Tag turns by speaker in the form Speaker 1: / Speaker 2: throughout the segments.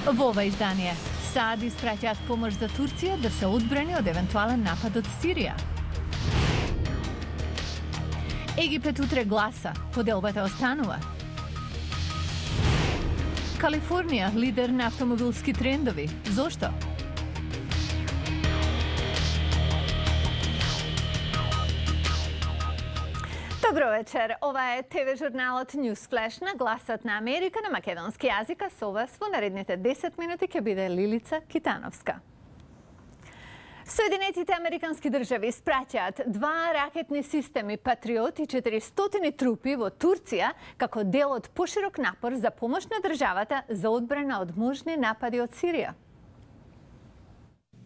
Speaker 1: Во ова издание, САД испраќаат помош за Турција да се одбрани од евентуален напад од Сирија. Египет утре гласа, поделбата останува. Калифорнија лидер на автомобилски трендови. Зошто? Добро вечер. Ова е ТВ журналот News Flash на гласот на Америка на македонски јазик, а со вас во наредните 10 минути ќе биде Лилица Китановска. Соединетите американски држави испраќаат 2 ракетни системи Патриот и 400 трупи во Турција како дел од поширок напор за помош на државата за одбрана од можни напади од Сирија.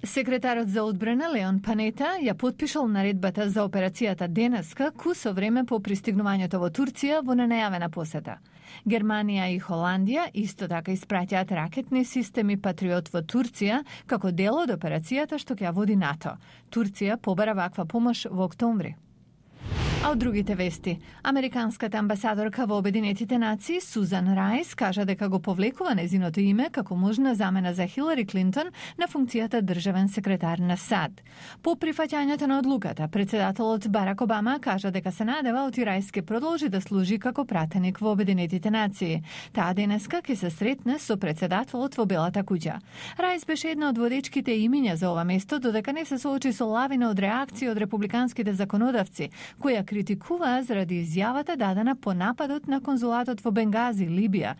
Speaker 1: Секретарот за одбрана Леон Панета ја потпишал наредбата за операцијата денеска, кусо време по пристигнувањето во Турција во ненајавена посета. Германија и Холандија исто така испраќаат ракетни системи Патриот во Турција како дел од операцијата што ќе ја води НАТО. Турција побара ваква помош во октомври. А од другите вести, американската амбасадорка во Обединетите нации Сузан Рајс кажа дека го повлекува незиното име како можна замена за Хилари Клинтон на функцијата државен секретар на САД. По прифаќањето на одлуката, председателот Барак Обама кажа дека се надева оти Рајс ке продолжи да служи како пратеник во Обединетите нации. Таа денеска ќе се сретне со председателот во Белата куќа. Рајс беше една од водечките имиња за ова место, додека не се соочи со лавина од реакции од републиканските законодавци, која критикуваа заради изјавата дадена по нападот на конзулатот во Бенгази, Либија.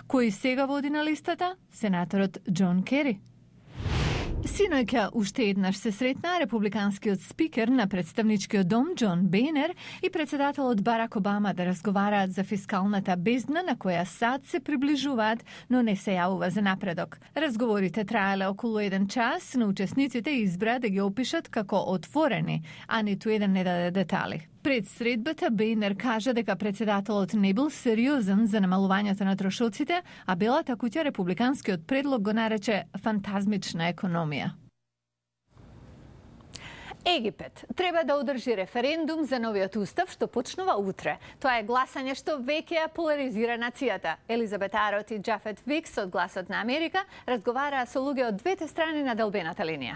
Speaker 1: Кој сега води на листата? Сенаторот Џон Кери. Синоќа уште еднаш се сретна републиканскиот спикер на представничкиот дом Џон Бейнер и председателот Барак Обама да разговараат за фискалната бездна на која САД се приближуваат, но не се јавува за напредок. Разговорите траеле околу 1 час, но учесниците избра да ги опишат како отворени, а ниту еден не даде детали. Пред средбата Бейнер кажа дека председателот не бил сериозен за намалувањето на трошоците, а Белата куќа републиканскиот предлог го нарече фантазмична економија. Египет треба да одржи референдум за новиот устав што почнува утре. Тоа е гласање што веќе ја поларизира нацијата. Елизабет Арот и Џафет Викс од Гласот на Америка разговараа со луѓе од двете страни на делбената линија.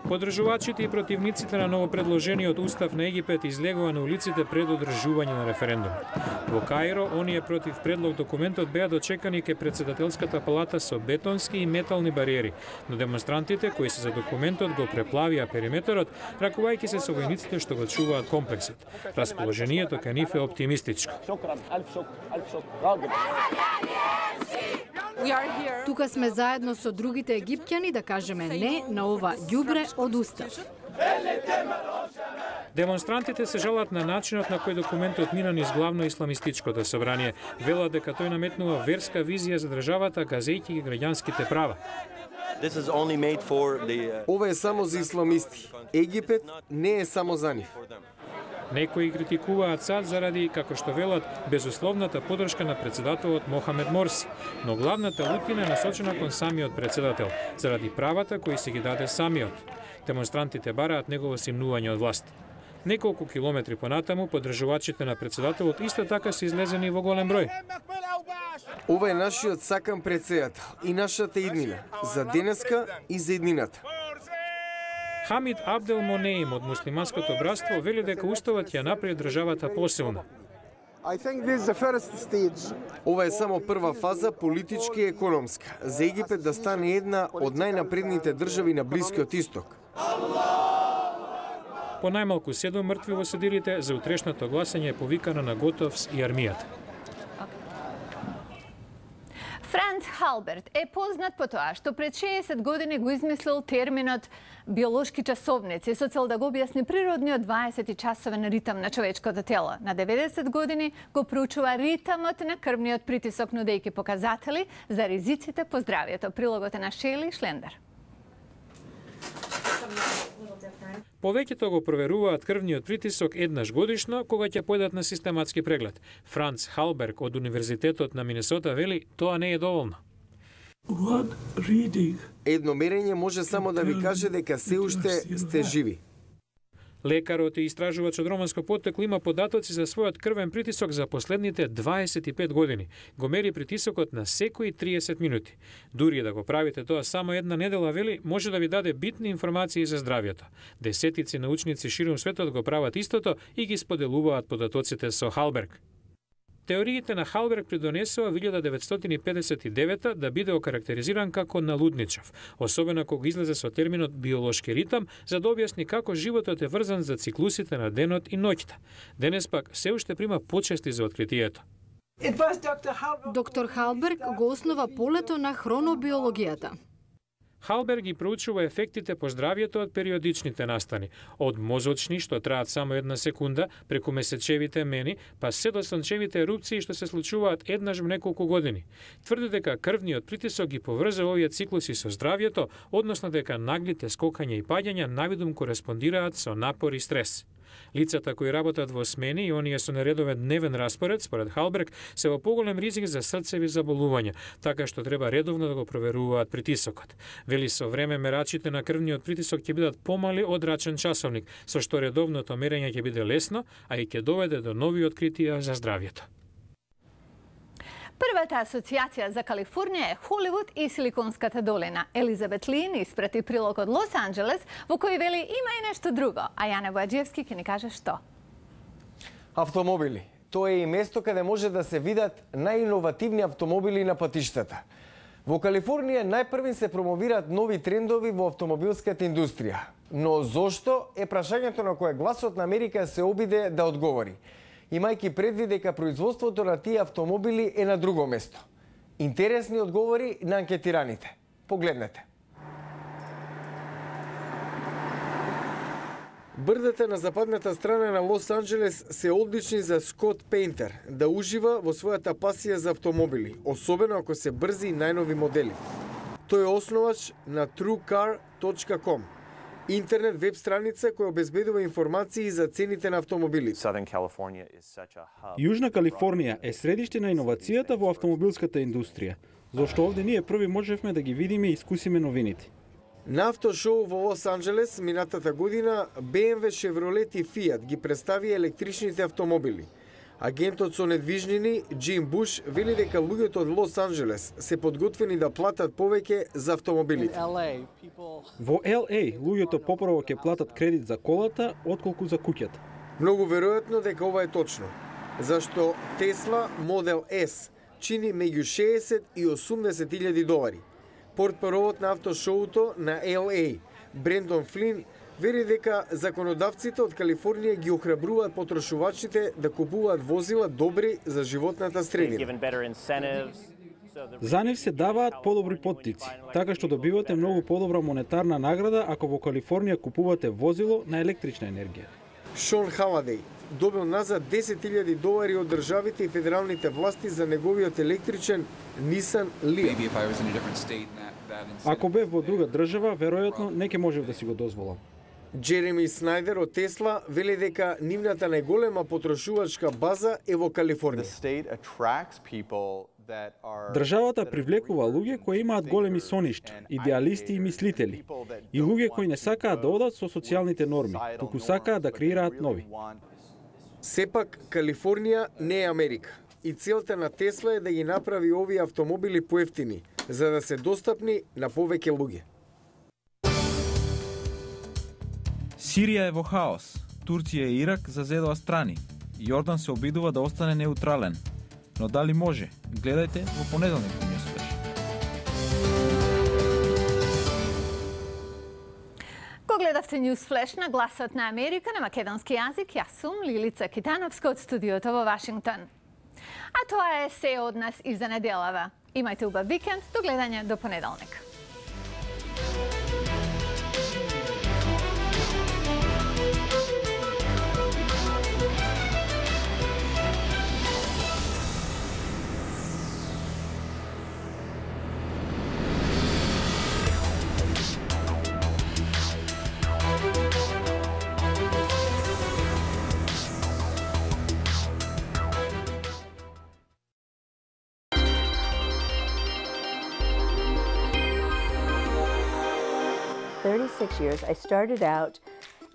Speaker 2: Поддржувачите и противниците на новопредложениот устав на Египет излегува на улиците пред одржување на референдум. Во Каиро, оние против предлог документот беа дочекани ке председателската палата со бетонски и метални бариери, но демонстрантите кои се за документот го преплавија периметерот, ракувајќи се со војниците што го чуваат комплексот. Расположението кај нив е оптимистичко.
Speaker 3: Тука сме заедно со другите египтјани да кажеме не на ова ѓубре од устав.
Speaker 2: Демонстрантите се жалат на начинот на кој документот мина низ главно исламистичкото собрание. Велат дека тој наметнува верска визија за државата, газејќи ги граѓанските права.
Speaker 4: Ова е само за исламисти. Египет не е само за нив.
Speaker 2: Некои критикуваат САД заради, како што велат, безусловната поддршка на председателот Мохамед Морси, но главната лутина е насочена кон самиот председател, заради правата кои се ги даде самиот. Демонстрантите бараат негово симнување од власт. Неколку километри понатаму, поддржувачите на председателот исто така се излезени во голем број.
Speaker 4: Ова е нашиот сакан председател и нашата иднина, за денеска и за иднината.
Speaker 2: Хамид Абдел Монеим од муслиманското братство вели дека уставот ја направи државата посилна.
Speaker 4: Ова е само прва фаза, политички и економска, за Египет да стане една од најнапредните држави на Блискиот Исток.
Speaker 2: По најмалку 7 мртви во седилите, за утрешното гласање е повикана на Готовс и армијата.
Speaker 1: Франц Халберт е познат по тоа што пред 60 години го измислил терминот биолошки часовници со цел да го објасни природниот 20-часовен ритам на човечкото тело. На 90 години го проучува ритамот на крвниот притисок, нудејќи показатели за ризиците по здравјето. Прилогот е на Шели Шлендер.
Speaker 2: Повеќето го проверуваат крвниот притисок еднаш годишно, кога ќе појдат на систематски преглед. Франц Халберг од Универзитетот на Минесота вели, тоа не е доволно.
Speaker 4: Едно мерење може само да ви каже дека се уште сте живи.
Speaker 2: Лекарот и истражувач од романско поттекло има податоци за својот крвен притисок за последните 25 години. Го мери притисокот на секои 30 минути. Дури да го правите тоа само една недела, вели, може да ви даде битни информации за здравјето. Десетици научници ширум светот го прават истото и ги споделуваат податоците со Халберг. Теориите на Халберг придонесува 1959 да биде окарактеризиран како налудничав, особено кога излезе со терминот биолошки ритам, за да објасни како животот е врзан за циклусите на денот и ноќта. Денес пак се уште прима почести за откритието.
Speaker 3: Доктор Халберг го основа полето на хронобиологијата.
Speaker 2: Халберг ги проучува ефектите по здравјето од периодичните настани, од мозочни што траат само една секунда, преку месечевите мени, па се до сончевите ерупции што се случуваат еднаш во неколку години. Тврди дека крвниот притисок ги поврзува овие циклуси со здравјето, односно дека наглите скокања и паѓања навидум кореспондираат со напор и стрес. Лицата кои работат во смени и оние со нередовен дневен распоред, според Халберг, се во поголем ризик за срцеви заболувања, така што треба редовно да го проверуваат притисокот. Вели, со време мерачите на крвниот притисок ќе бидат помали од рачен часовник, со што редовното мерење ќе биде лесно, а и ќе доведе до нови откритија за здравјето.
Speaker 1: Првата асоциација за Калифорнија е Холивуд и Силиконската долина. Елизабет Лин испрати прилог од Лос Анџелес, во кој вели има и нешто друго, а Јане Бојаджиевски ќе ни каже што.
Speaker 4: Автомобили. Тоа е и место каде може да се видат најиновативни автомобили на патиштата. Во Калифорнија најпрви се промовираат нови трендови во автомобилската индустрија. Но зошто е прашањето на кое гласот на Америка се обиде да одговори, имајќи предвид дека производството на тие автомобили е на друго место. Интересни одговори на анкетираните. Погледнете. Брдата на западната страна на Лос Анџелес се одлични за Скот Пейнтер да ужива во својата пасија за автомобили, особено ако се брзи и најнови модели. Тој е основач на TrueCar.com, интернет веб страница која обезбедува информации за цените на автомобили.
Speaker 5: Јужна Калифорнија е средиште на иновацијата во автомобилската индустрија, зашто овде ние први можевме да ги видиме и искусиме новините.
Speaker 4: На автошоу во Лос Анџелес минатата година BMW, Chevrolet и Fiat ги представи електричните автомобили. Агентот со недвижнини Джим Буш вели дека луѓето од Лос Анџелес се подготвени да платат повеќе за автомобилите.
Speaker 5: Во LA луѓето попрво ќе платат кредит за колата отколку за куќата.
Speaker 4: Многу веројатно дека ова е точно, зашто Tesla Model S чини меѓу 60 и 80 илјади долари. Портпаровот на автошоуто на LA, Брендон Флин, вери дека законодавците од Калифорнија ги охрабруваат потрошувачите да купуваат возила добри за животната средина.
Speaker 5: За нив се даваат подобри поттици, така што добивате многу подобра монетарна награда ако во Калифорнија купувате возило на електрична енергија.
Speaker 4: Шон Халадеј добил назад 10.000 долари од државите и федералните власти за неговиот електричен Nissan Leaf.
Speaker 5: Ако бев во друга држава, веројатно не ќе можев да си го дозволам.
Speaker 4: Джереми Снајдер од Тесла вели дека нивната најголема потрошувачка база е во Калифорнија.
Speaker 5: Државата привлекува луѓе кои имаат големи соништа, идеалисти и мислители, и луѓе кои не сакаат да одат со социјалните норми, туку сакаат да креираат нови.
Speaker 4: Сепак, Калифорнија не е Америка и целта на Тесла е да ги направи овие автомобили поевтини, за да се достапни на повеќе луѓе.
Speaker 6: Сирија е во хаос, Турција и Ирак зазедоа страни, Јордан се обидува да остане неутрален. Но дали може? Гледајте во понеделник во Newsflash.
Speaker 1: Го гледавте Newsflash на Гласот на Америка на македонски јазик. Јас сум Лилица Китановска од студиото во Вашингтон. А тоа е се од нас и за неделава. Имајте убав викенд, до гледање до понеделник.
Speaker 7: Years, I started out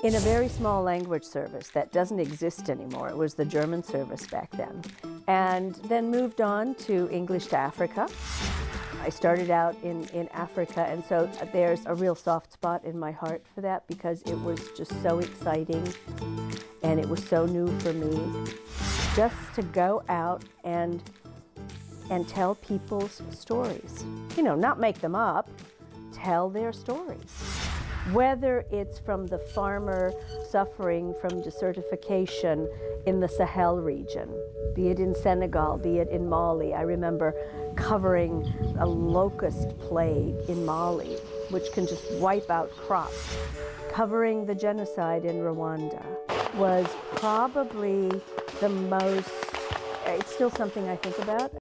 Speaker 7: in a very small language service that doesn't exist anymore. It was the German service back then. And then moved on to English to Africa. I started out in Africa, and so there's a real soft spot in my heart for that because it was just so exciting and it was so new for me. Just to go out and tell people's stories. You know, not make them up, tell their stories. Whether it's from the farmer suffering from desertification in the Sahel region, be it in Senegal, be it in Mali. I remember covering a locust plague in Mali, which can just wipe out crops. Covering the genocide in Rwanda was probably the most, it's still something I think about.